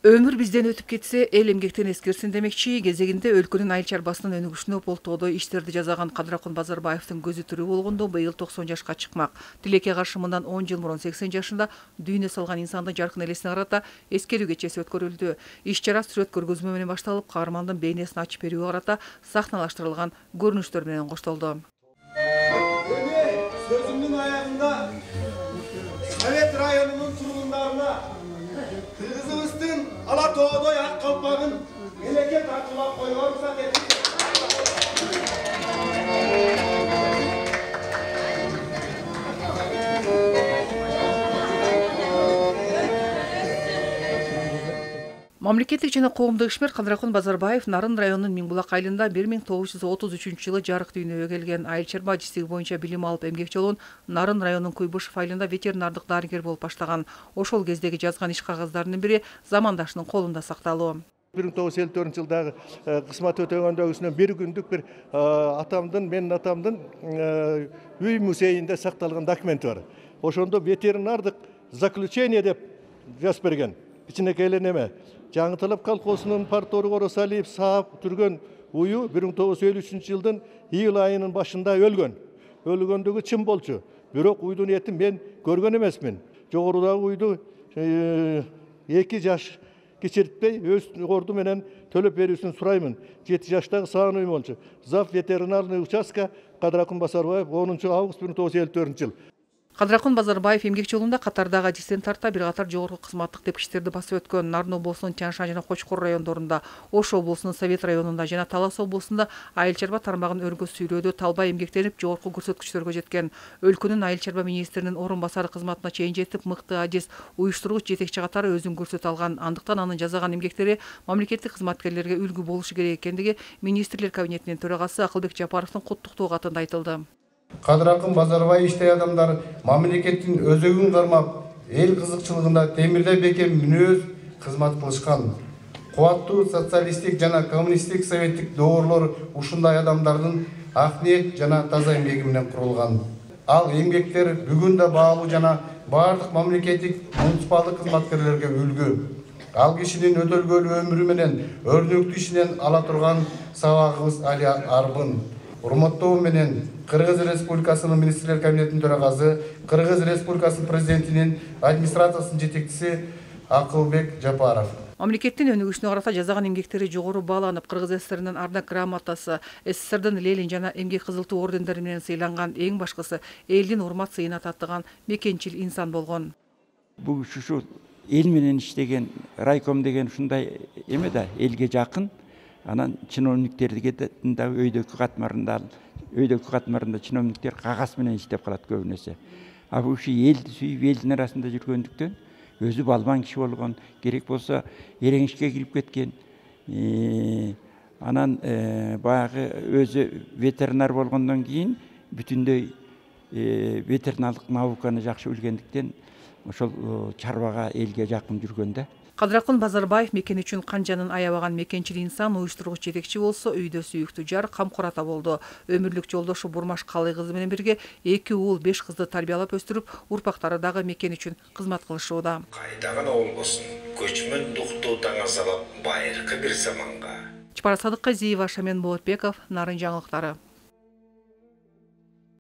Өмүр бизден өтүп кетсе, эл эмгектен эскерсин демекчи, кезегинде өлкөнүн айыл чарбасынын өнүгүшүнө болтоодой иштерди жасаган Кадракун Базарбаевдин көзү тирүү болгондо быйыл 90 жашка чыкмак. Тилекке каршы мындан 10 жыл мурун 80 жашында дүйнө салган инсандын жаркын элесине карата эскерүү кечеси өткөрүлдү. Иш-чара сүрөт көргөзмө менен башталып, каармандын бейнесин ачып берүүгө карата сахналаштырылган көрүнүштөр менен коштолду. Сөзүмдүн аягында Совет районунун тургундарына кыргызыбыздын ала тоодой ак калпагын мемлекет аркылуу коюуга уруксат этип. Мамлекеттик жана коомдук ишмер Кадракун Базарбаев Нарын районунун Миңбулак айылында 1933-жылы жарык дүйнөгө келген. Айыл чарба жистиги боюнча билим алып эмгек жолун Нарын районунун Куйбышев айылында ветеринардык дарыгер болуп баштаган. Ошол кездеги жазган иш кагаздарынын бири замандашынын колунда сакталуу. 1954-жылдагы кызмат өтөгөндөгүсүнөн бир күндүк бир менин атамдын үй музейинде сакталган документ бар. Ошондо ветеринардык заключение деп жазып берген. Кичинекей эле неме. Жаңыталап колхозунун партору Оросалиев саап түргөн уyu 1953-жылдын июль айынын башында өлгөн. Өлгөндүгү чын болчу. Бирок уйдун этин мен көргөн эмесмин. Жогорудагы уйду 2 жаш кечиртпей өз орду менен төлөп берүүсүн сураймын. 7 жаштагы Саануй болчу. Зав ветеринарный участка Кадракун Базарбаев 10 август 1954-жыл. Кадракун Базарбаев эмгек жолунда катардагы адистен тарта бир катар жогорку кызматтык тепкичтерди басып өткөн. Нарын облусунун Тянь-Шань жана Кочкор райондорунда, Ош облусунун Совет районунда жана Талас облусунда айыл чарба тармагын өргө сүйрөөдө талбай эмгектенип, жогорку көрсөткүчтөргө жеткен. Өлкөнүн айыл чарба министринин орун басары кызматына чейин жетип, мыкты адис, уюштургуч жетекчи катары өзүн көрсөтө алган. Андыктан анын жасаган эмгектери мамлекеттик кызматкерлерге үлгү болушу керек экендиги министрлер кабинетинин төрагасы Акылбек Жапаровдун куттуктоо катында айтылды. Кадракун Базарбаевичтей адамдар мамлекеттин өзөгүн кармап, эл кызыкчылыгында темирдей бекем мүнөз кызмат кылышкан. Кубаттуу социалисттик жана коммунисттик советтик доорлор ушундай адамдардын ак ниет жана таза эмгеги менен курулган. Ал эмгектер бүгүн да баалуу жана бардык мамлекеттик муниципалдык кызматкерлерге үлгү. Ал кишинин өтөлгөлүү өмүрү менен өрнөктүү ишинен ала турган сабагыбыз али арбын. Урматтоо менен Кыргыз Республикасынын министрлер кабинетинин төрагасы, Кыргыз Республикасынын президентинин администрациясынын жетекчиси Акылбек Жапаров. Мамлекеттин өнүгүшүнө карата жасаган эмгектери жогору бааланып, Кыргыз СССРинин Ардак грамотасы, СССРдин Ленин жана эмгек кызыл туу ордендери менен сыйланган, эң башкысы элдин урмат сыйына таттыган мекенчил инсан болгон. Бул ушу эл менен иштеген райком деген ушундай эме да, элге жакын. Анан чиновниктерге да өйдөкү катмарында чиновниктер кагаз менен иштеп калат көбүнесе. А бул ушу элди сүйүп, элдин арасында жүргөндүктөн өзү балбан киши болгон, керек болсо эрең ишке кирип кеткен. Анан баягы өзү ветеринар болгондон кийин бүтүндөй ветеринарлык науканы жакшы билгендиктен ошол чарбага элге жакын жүргөн да. Кадракун Базарбаев мекени үчүн канжанын аябаган мекенчил инсан, уюштургуч жетекчи болсо, үйдө сүйүктүү жар, камкор ата болду. Өмүрлүк жолдошу Бурмаш Калый кызы менен бирге 2 уул 5 кызды тарбиялап өстүрүп, урпактары дагы мекен үчүн кызмат кылышууда. Кайдаган болбосун, көчмөн дуктуу таңа салып, байыркы бир заманга. Чапар Садыккызиева, Шамен Болотбеков, Нарын жаңылыктары.